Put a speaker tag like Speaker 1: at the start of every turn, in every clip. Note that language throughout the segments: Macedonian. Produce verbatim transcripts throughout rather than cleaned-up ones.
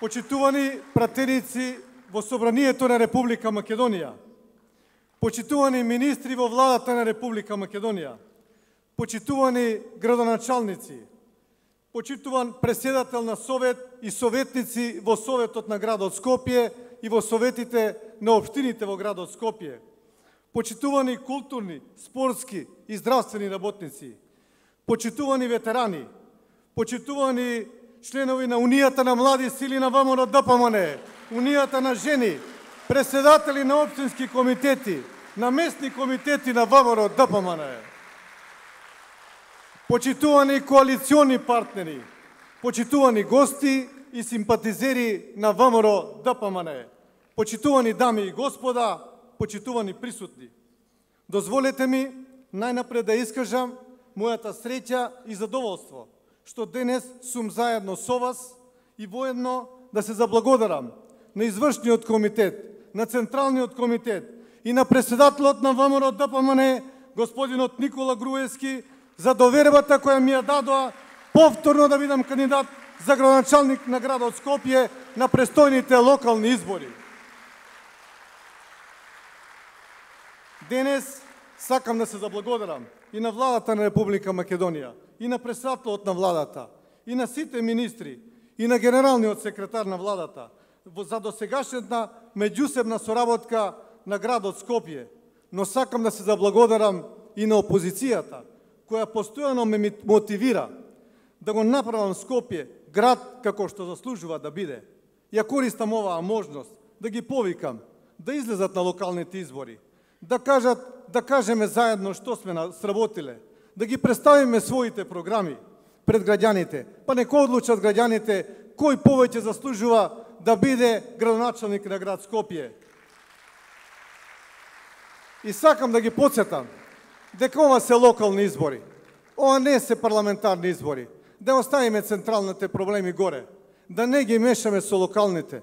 Speaker 1: Почитувани пратеници во Собранието на Република Македонија, почитувани министри во владата на Република Македонија, почитувани градоначалници, почитуван преседател на Совет и советници во Советот на градот Скопје и во советите на општините во градот Скопје, почитувани културни, спортски и здравствени работници, почитувани ветерани, почитувани членови на Унијата на млади сили на ВМРО ДПМН, Унијата на жени, преседатели на општински комитети, на местни комитети на ВМРО ДПМН, почитувани коалициони партнери, почитувани гости и симпатизери на ВМРО ДПМН, почитувани дами и господа, почитувани присутни. Дозволете ми најнапред да искажам мојата среќа и задоволство што денес сум заедно со вас и воедно да се заблагодарам на извршниот комитет, на Централниот комитет и на преседателот на ВМРО ДПМН, господинот Никола Груевски, за довербата која ми ја дадоа повторно да бидам кандидат за градоначалник на градот Скопје на престојните локални избори. Денес сакам да се заблагодарам и на владата на Република Македонија, и на председателот на владата, и на сите министри, и на генералниот секретар на владата за досегашната меѓусебна соработка на градот Скопје, но сакам да се заблагодарам и на опозицијата, која постојано ме мотивира да го направам Скопје град како што заслужува да биде. Ја користам оваа можност да ги повикам да излезат на локалните избори, да кажат, да кажеме заедно што сме сработиле, да ги представиме своите програми пред граѓаните, па нека одлучат граѓаните кој повеќе заслужува да биде градоначалник на град Скопје. И сакам да ги подсетам дека ова се локални избори, ова не се парламентарни избори, да оставиме централните проблеми горе, да не ги мешаме со локалните.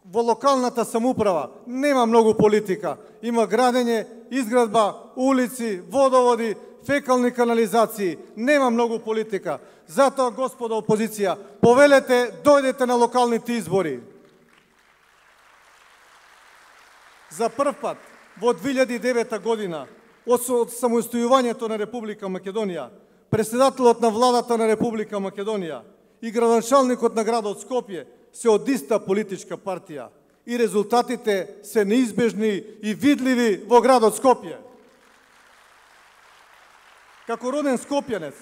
Speaker 1: Во локалната самоуправа нема многу политика, има градење, изградба, улици, водоводи, фекални канализации, нема многу политика. Затоа, господа опозиција, повелете, дојдете на локалните избори. За прв пат во две илјади и девета година, од самостојувањето на Република Македонија, преседателот на владата на Република Македонија и градоначалникот на градот Скопје се од иста политичка партија и резултатите се неизбежни и видливи во градот Скопје. Како роден скопјанец,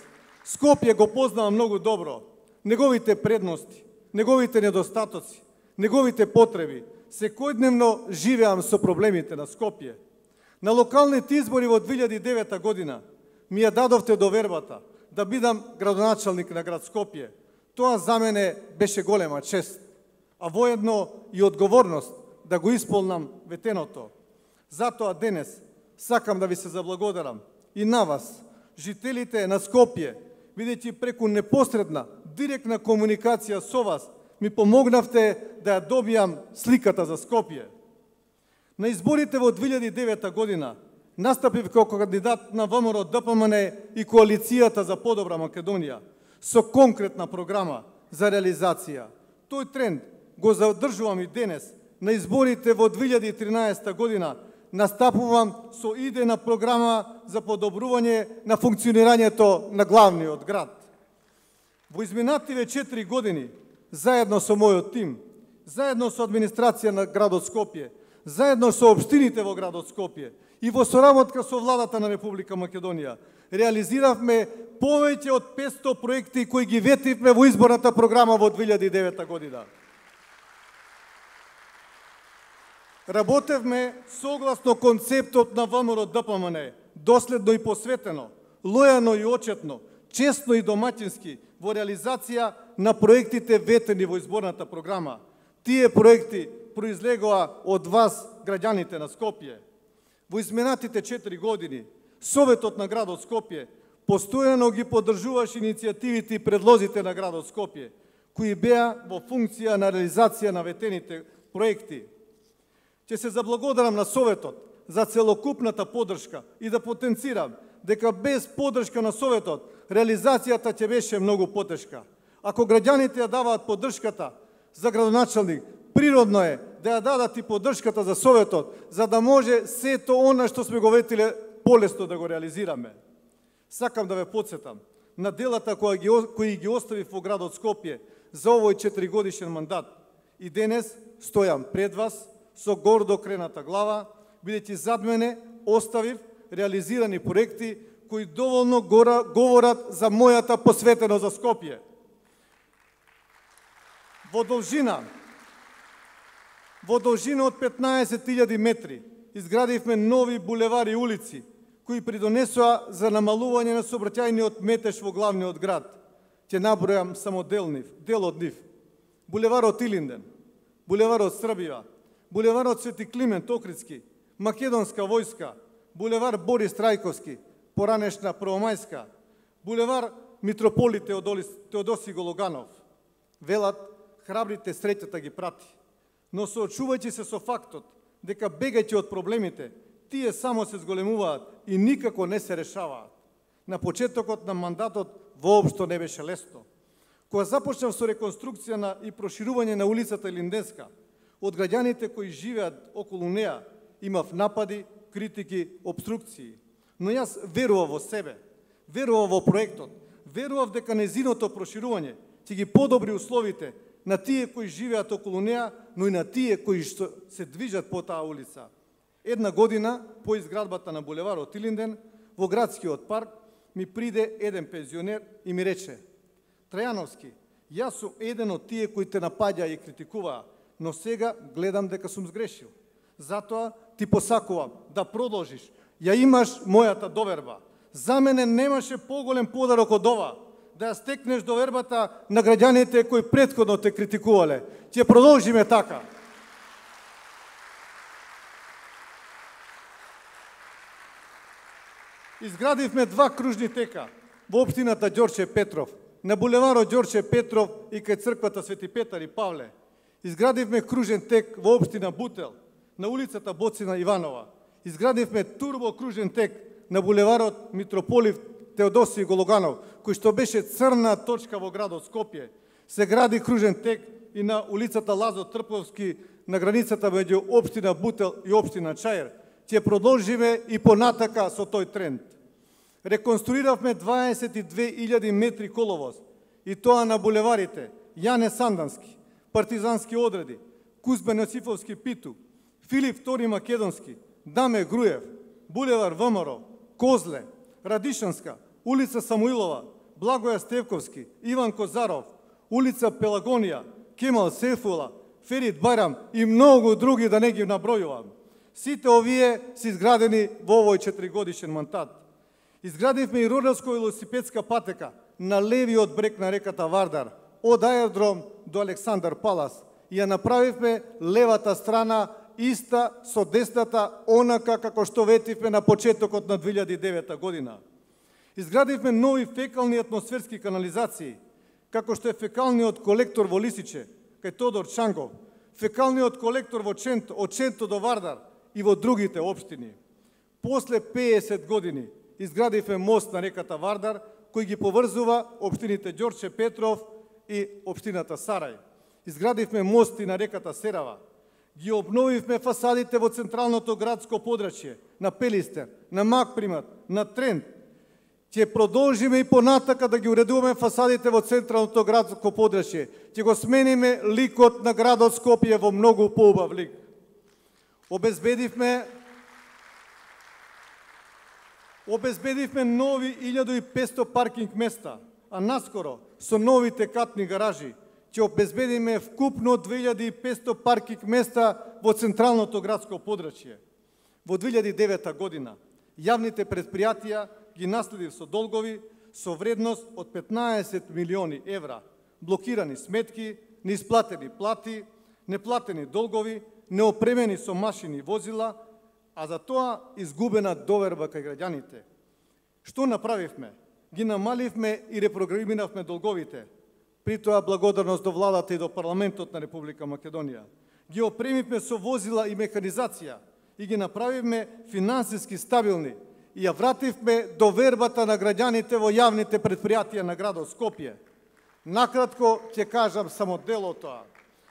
Speaker 1: Скопје го познавам многу добро, неговите предности, неговите недостатоци, неговите потреби. Секојдневно живеам со проблемите на Скопје. На локалните избори во две илјади и девета година ми ја дадовте довербата да бидам градоначалник на град Скопје. Тоа за мене беше голема чест, а воедно и одговорност да го исполнам ветеното. Затоа денес сакам да ви се заблагодарам и на вас, жителите на Скопје, бидејќи преку непосредна, директна комуникација со вас, ми помогнавте да ја добијам сликата за Скопје. На изборите во две илјади и девета година настапив како кандидат на ВМРО ДПМН и Коалицијата за подобра Македонија со конкретна програма за реализација. Тој тренд го задржувам и денес. На изборите во две илјади и тринаесета година настапувам со идејна програма за подобрување на функционирањето на главниот град. Во изминативе четири години, заедно со мојот тим, заедно со администрација на градот Скопје, заедно со општините во градот Скопје и во соработка со владата на Република Македонија, реализиравме повеќе од петсто проекти кои ги ветивме во изборната програма во две илјади и девета година. Работевме согласно концептот на ВМРО ДПМН, доследно и посветено, лојано и очетно, честно и домаќински во реализација на проектите ветени во изборната програма. Тие проекти произлегоа од вас, граѓаните на Скопје. Во изминатите четири години, Советот на градот Скопје постојано ги поддржуваше иницијативите и предлозите на градот Скопје, кои беа во функција на реализација на ветените проекти. Ќе се заблагодарам на Советот за целокупната поддршка и да потенцирам дека без поддршка на Советот реализацијата ќе беше многу потешка. Ако граѓаните ја даваат поддршката, за градоначалник, природно е да ја дадат и поддршката за Советот, за да може сето она што сме го ветиле полесно да го реализираме. Сакам да ве подсетам на делата кои ги, кои ги оставив во градот Скопје за овој четиригодишен мандат. И денес стојам пред вас со гордо крената глава, бидејќи зад мене оставив реализирани проекти кои доволно гора, говорат за мојата посветеност за Скопје. Во должина, во должина од петнаесет илјади метри изградивме нови булевари и улици, кои придонесоа за намалување на сообраќајниот метеж во главниот град. Ќе набројам само дел, нив, дел од нив. Булеварот Илинден, булеварот Србија, булеварот Свети Климент Охридски, Македонска војска, булевар Борис Трајковски, поранешна Првомајска, булевар Митрополи Теодоси Гологанов. Велат, храбрите среќата ги прати. Но соочувајќи се со фактот дека бегајќи од проблемите, тие само се зголемуваат и никако не се решаваат. На почетокот на мандатот воопшто не беше лесно. Кога започнав со реконструкција на и проширување на улицата Илинденска, од граѓаните кои живеат околу неа имав напади, критики, обструкции. Но јас верував во себе, верував во проектот, верував дека незиното проширување ќе ги подобри условите на тие кои живеат околу неа, но и на тие кои што се движат по таа улица. Една година по изградбата на булеварот Илинден, во градскиот парк, ми приде еден пензионер и ми рече: Трајановски, јас сум еден од тие кои те напаѓа и критикуваа, но сега гледам дека сум сгрешил. Затоа ти посакувам да продолжиш. Ја имаш мојата доверба. За мене немаше поголем подарок од ова, да ја стекнеш довербата на граѓаните кои претходно те критикувале. Ќе продолжиме така. Изградивме два кружни тека во општината Ѓорче Петров, на булеварот Ѓорче Петров и кај црквата Свети Петар и Павле. Изградивме кружен тек во општина Бутел, на улицата Боцина Иванова. Изградивме турбо кружен тек на булеварот Митрополив Теодоси Гологанов, кој што беше црна точка во градот Скопје. Се гради кружен тек и на улицата Лазо Трповски, на границата меѓу општина Бутел и општина Чаир. Ќе продолжиме и понатака со тој тренд. Реконструиравме дваесет и две илјади метри коловоз, и тоа на булеварите Јане Сандански, Партизански одреди, Кузбен Јосифовски Питу, Филип втори Македонски, Даме Груев, булевар ВМРО, Козле, Радишанска, улица Самуилова, Благоја Стевковски, Иван Козаров, улица Пелагонија, Кемал Сефула, Ферид Байрам и многу други, да не ги набројувам. Сите овие се изградени во овој четиригодишен мандат. Изградивме и родарско велосипедска патека на левиот брег на реката Вардар, од аеродром до Александар Палас, и ја направивме левата страна иста со десната, онака како што ветивме на почетокот на две илјади и девета година. Изградивме нови фекални атмосферски канализации, како што е фекалниот колектор во Лисиче, кај Тодор Чангов, фекалниот колектор во Ченто, од Ченто до Вардар и во другите општини. После песет години изградивме мост на реката Вардар, кој ги поврзува општините Ѓорче Петров и општината Сарај. Изградивме мости на реката Серава. Ги обновивме фасадите во централното градско подрачје, на Пелистер, на Макпримат, на Трент. Ќе продолжиме и понатака да ги уредуваме фасадите во централното градско подрачје. Ќе го смениме ликот на градот Скопје во многу поубав лик. Обезбедивме Обезбедивме нови илјада и петстотини паркинг места, а наскоро со новите катни гаражи ќе обезбедиме вкупно две илјади и петстотини паркинг места во централното градско подрачје. Во две илјади и девета година јавните предпријатија ги наследив со долгови со вредност од петнаесет милиони евра, блокирани сметки, неисплатени плати, неплатени долгови, неопремени со машини и возила, а за тоа изгубена доверба кај граѓаните. Што направивме? Ги намаливме и репрограмиравме долговите. При тоа благодарност до владата и до парламентот на Република Македонија. Ги опремивме со возила и механизација и ги направивме финансиски стабилни и ја вративме довербата на граѓаните во јавните предпријатија на градот Скопје. Накратко ќе кажам само дел од тоа.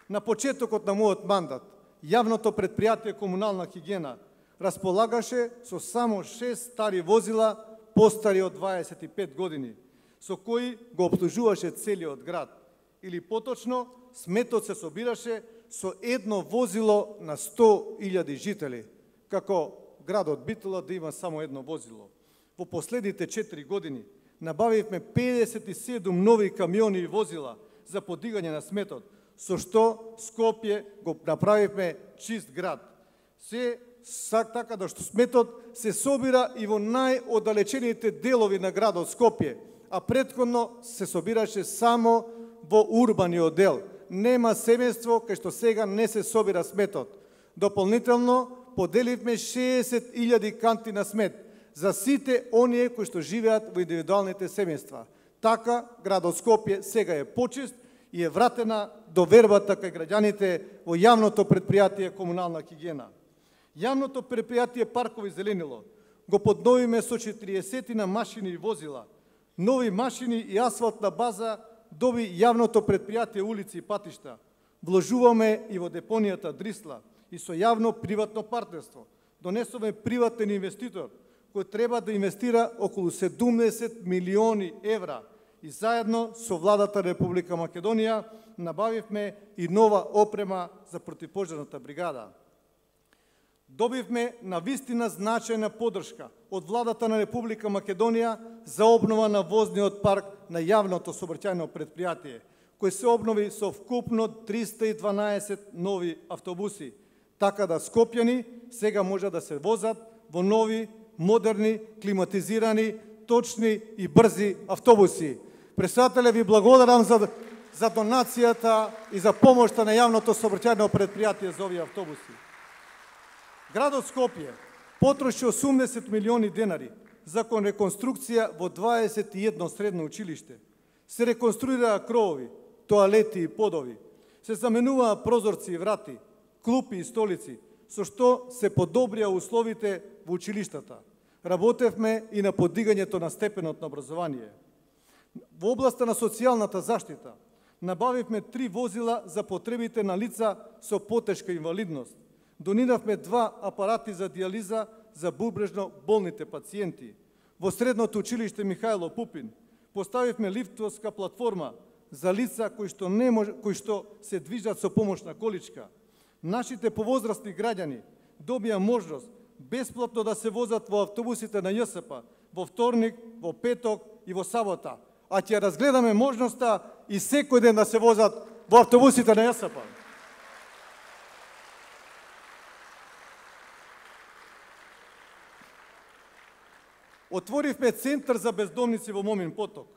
Speaker 1: На почетокот на мојот мандат, јавното предпријатие Комунална хигиена располагаше со само шест стари возила постари од дваесет и пет години, со кои го обслужуваше целиот град. Или поточно, сметот се собираше со едно возило на сто илјади жители, како градот Битола да има само едно возило. Во последните четири години набавивме педесет и седум нови камиони и возила за подигање на сметот, со што Скопје го направивме чист град. Се сак така да што сметот се собира и во најоддалечените делови на градот Скопје, а претходно се собираше само во урбаниот дел. Нема семејство кај што сега не се собира сметот. Дополнително поделивме шеесет илјади канти на смет за сите оние кои што живеат во индивидуалните семејства. Така градот Скопје сега е почист и е вратена довербата кај граѓаните во јавното предпријатие Комунална хигиена. Јавното предпријатие Паркови зеленило го подновиме со четириесет машини и возила. Нови машини и асфалтна база доби јавното предпријатие Улици и патишта. Вложуваме и во депонијата Дрисла и со јавно-приватно партнерство. Донесовме приватен инвеститор кој треба да инвестира околу седумдесет милиони евра и заедно со владата Република Македонија набавивме и нова опрема за противпожарната бригада. Добивме на вистина значајна поддршка од владата на Република Македонија за обнова на возниот парк на јавното сообраќајно предпријатие, кој се обнови со вкупно триста и дванаесет нови автобуси, така да скопјани сега може да се возат во нови, модерни, климатизирани, точни и брзи автобуси. Председателе, ви благодарам за, за донацијата и за помошта на јавното сообраќајно предпријатие за овие автобуси. Градот Скопје потроши осумдесет милиони денари за реконструкција во дваесет и едно средно училиште. Се реконструираа кровови, тоалети и подови. Се заменуваа прозорци и врати, клупи и столици, со што се подобрија условите во училиштата. Работевме и на подигањето на степенот на образование. Во областа на социјалната заштита набавивме три возила за потребите на лица со потешка инвалидност. Дониравме два апарати за диализа за бубрежно болните пациенти. Во средното училиште Михајло Пупин поставивме лифтовска платформа за лица кои што не мож... кои што се движат со помош на количка. Нашите повозрастни граѓани добија можност бесплатно да се возат во автобусите на ЈСП во вторник, во петок и во сабота, а ќе разгледаме можноста и секој ден да се возат во автобусите на ЈСП. Отворивме центар за бездомници во Момин поток.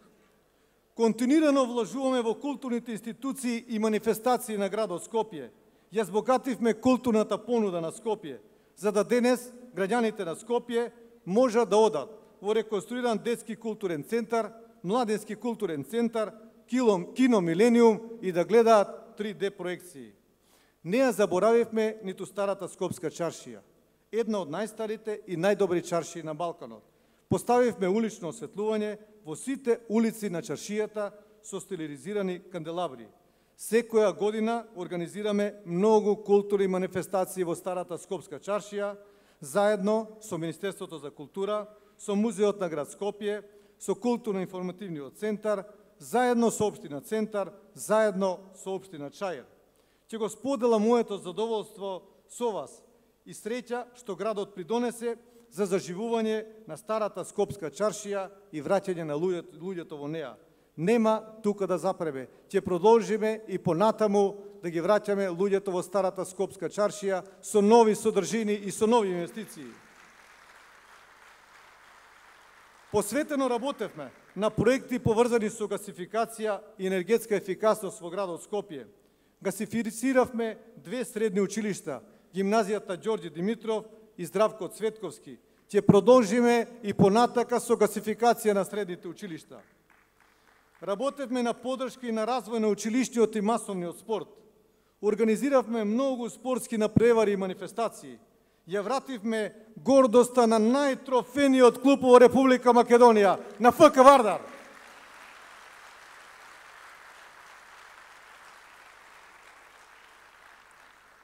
Speaker 1: Континуирано вложуваме во културните институции и манифестации на градот Скопје. Ја збогативме културната понуда на Скопје, за да денес граѓаните на Скопје можат да одат во реконструиран детски културен центар, младенски културен центар, кино Милениум и да гледаат три Д проекции. Не ја заборавивме ниту старата Скопска чаршија, една од најстарите и најдобри чаршии на Балканот. Поставивме улично осветлување во сите улици на чаршијата со стилизирани канделабри. Секоја година организираме многу културни манифестации во старата Скопска чаршија, заедно со Министерството за култура, со Музеот на град Скопје, со Културно-информативниот центар, заедно со Општина Центар, заедно со Општина Чаир. Ќе го споделам моето задоволство со вас и среќа што градот придонесе за заживување на старата Скопска чаршија и враќање на луѓето, луѓето во неа. Нема тука да запребе. Ќе продолжиме и понатаму да ги враќаме луѓето во старата Скопска чаршија со нови содржини и со нови инвестиции. Посветено работевме на проекти поврзани со гасификација и енергетска ефикасност во градот Скопје. Гасифициравме две средни училишта, гимназијата Ѓорѓе Димитров и Здравко Цветковски. Ќе продолжиме и понатака со гасификација на средните училишта. Работевме на поддршка и на развој на училишниот и масовниот спорт. Организиравме многу спортски напревари и манифестации. Ја вративме гордоста на најтрофениот клуб во Република Македонија, на ФК Вардар.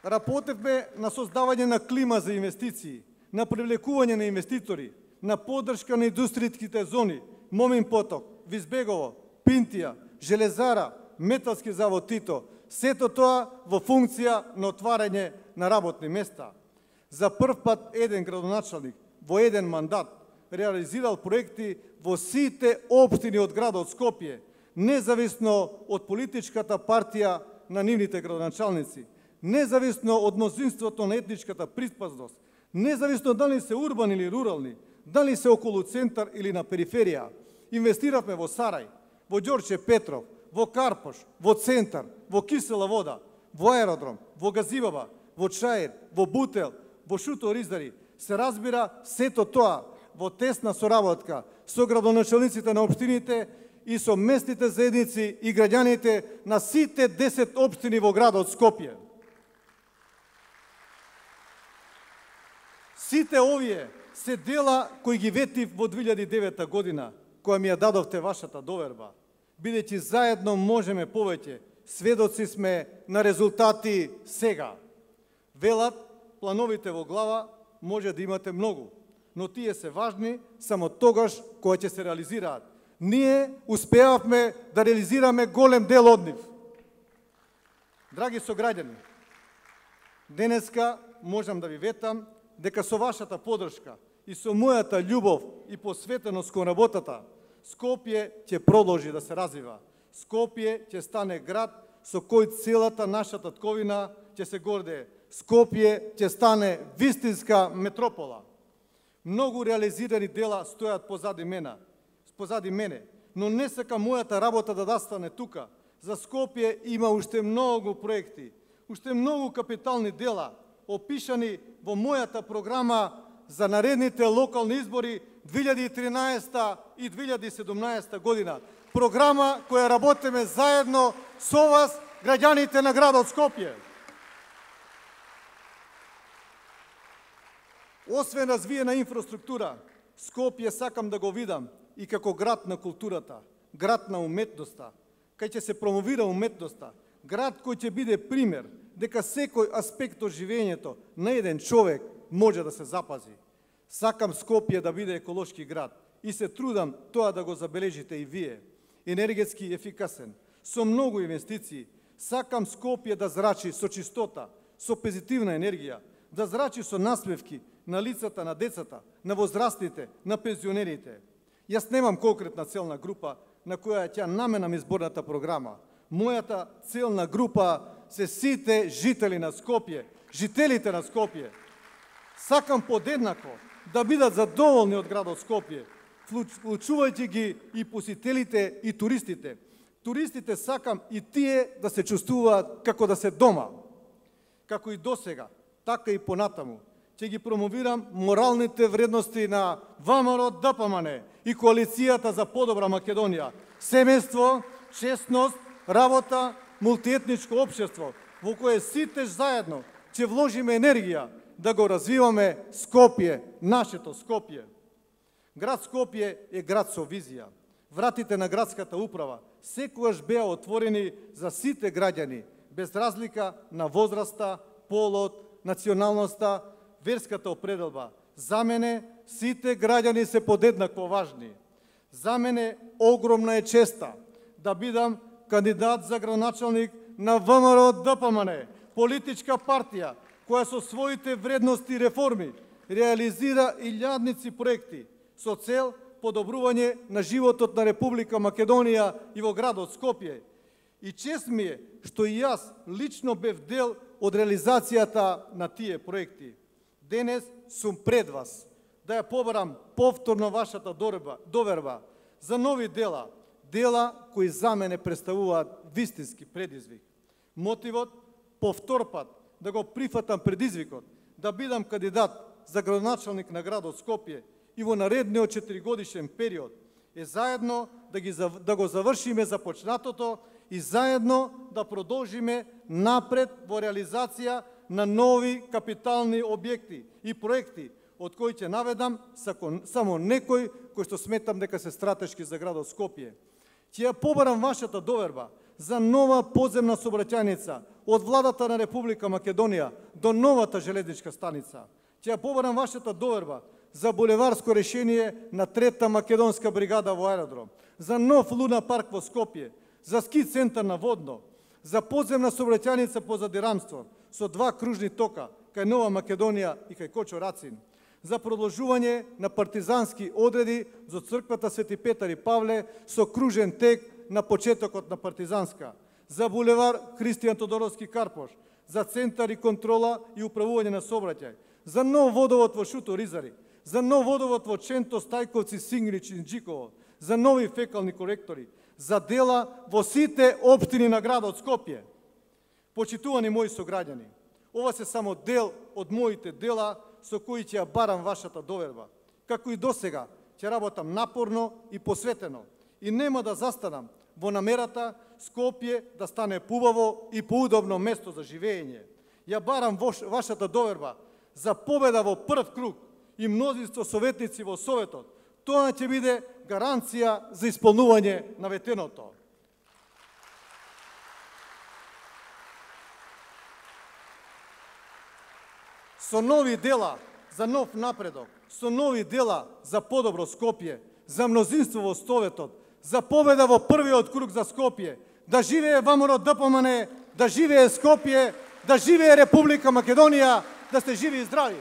Speaker 1: Работевме на создавање на клима за инвестиции, на привлекување на инвеститори, на поддршка на индустријските зони, Момин поток, Визбегово, Пинтија, Железара, Металски завод Тито, сето тоа во функција на отварање на работни места. За прв пат еден градоначалник во еден мандат реализирал проекти во сите општини од градот Скопје, независно од политичката партија на нивните градоначалници, независно од мнозинството на етничката приспазност, независно дали се урбани или рурални, дали се околу центар или на периферија. Инвестиравме во Сарај, во Ѓорче Петров, во Карпош, во Центар, во Кисела вода, во аеродром, во Газибаба, во Чаир, во Бутел, во Шуто Ризари. Се разбира сето тоа во тесна соработка со градоначалниците на општините и со местните заедници и граѓаните на сите десет општини во градот Скопје. Сите овие се дела кои ги ветив во две илјади и девета година, која ми ја дадовте вашата доверба. Бидејќи заедно можеме повеќе, сведоци сме на резултати сега. Велат, плановите во глава може да имате многу, но тие се важни само тогаш кога ќе се реализираат. Ние успеавме да реализираме голем дел од нив. Драги сограѓани, денеска можам да ви ветам дека со вашата поддршка и со мојата љубов и посветеност кон работата, Скопје ќе продолжи да се развива. Скопје ќе стане град со кој целата наша татковина ќе се гордее. Скопје ќе стане вистинска метропола. Многу реализирани дела стојат позади мене, позади мене, но не сакам мојата работа да застане тука. За Скопје има уште многу проекти, уште многу капитални дела, опишани во мојата програма за наредните локални избори две илјади и тринаесета и две илјади и седумнаесета година. Програма која работиме заедно со вас, граѓаните на градот Скопје. Освен развиена инфраструктура, Скопје сакам да го видам и како град на културата, град на уметноста, кај ќе се промовира уметноста, град кој ќе биде пример дека секој аспект од живењето на еден човек може да се запази. Сакам Скопје да биде еколошки град и се трудам тоа да го забележите и вие. Енергетски ефикасен, со многу инвестиции. Сакам Скопје да зрачи со чистота, со позитивна енергија, да зрачи со насмевки на лицата на децата, на возрастните, на пензионерите. Јас немам конкретна целна група на која ќе наменам изборната програма. Мојата целна група се сите жители на Скопје, жителите на Скопје. Сакам подеднако да бидат задоволни од градот Скопје, вклучувајќи ги и посетителите и туристите. Туристите сакам и тие да се чувствуваат како да се дома. Како и досега, така и понатаму. Ќе ги промовирам моралните вредности на ВМРО Д П М Н и Коалицијата за подобра Македонија. Семејство, честност, работа, мултиетничко општество, во кое сите заедно ќе вложиме енергија да го развиваме Скопје, нашето Скопје. Град Скопје е град со визија. Вратите на градската управа секогаш беа отворени за сите граѓани, без разлика на возраста, полот, националноста, верската определба. За мене сите граѓани се подеднакво важни. За мене огромна е честа да бидам кандидат за градоначалник на ВМРО Д П М Н, политичка партија која со своите вредности и реформи реализира илјадници проекти со цел подобрување на животот на Република Македонија и во градот Скопје. И чест ми е што и јас лично бев дел од реализацијата на тие проекти. Денес сум пред вас да ја побарам повторно вашата доверба за нови дела, дела кои за мене представуваат вистински предизвик. Мотивот повтор пат да го прифатам предизвикот, да бидам кандидат за градоначалник на градот Скопје и во наредниот четиригодишен период е заедно да, ги, да го завршиме започнатото и заедно да продолжиме напред во реализација на нови капитални објекти и проекти, од кои ќе наведам само некои кои што сметам дека се стратешки за градот Скопје. Ќе ја побарам вашата доверба за нова подземна сообраќајница од владата на Република Македонија до новата железничка станица. Ќе ја побарам вашата доверба за булеварско решение на трета македонска бригада во аеродром, за нов луна парк во Скопје, за ски центар на Водно, за подземна сообраќајница по Задирамство со два кружни тока кај Нова Македонија и кај Кочо Рацин, за продолжување на партизански одреди за црквата Свети Петар и Павле со кружен тек на почетокот на партизанска, за булевар Христијан Тодоровски Карпош, за центар и контрола и управување на сообраќај, за нов водовод во Шуто Ризари, за нов водовод во Ченто, Стајковци, Сингрич и Инџиково, за нови фекални колектори, за дела во сите општини на градот Скопје. Почитувани мои сограѓани, ова се само дел од моите дела со кои ќе ја барам вашата доверба. Како и досега, ќе работам напорно и посветено и нема да застанам во намерата Скопје да стане поубаво и поудобно место за живење. Ја барам вашата доверба за победа во прв круг и мнозинство советници во Советот. Тоа ќе биде гаранција за исполнување на ветеното. Со нови дела за нов напредок, со нови дела за подобро Скопје, за мнозинство во Советот, за победа во првиот круг за Скопје, да живее ВМРО ДПМН, да живее Скопје, да живее Република Македонија, да сте живи и здрави.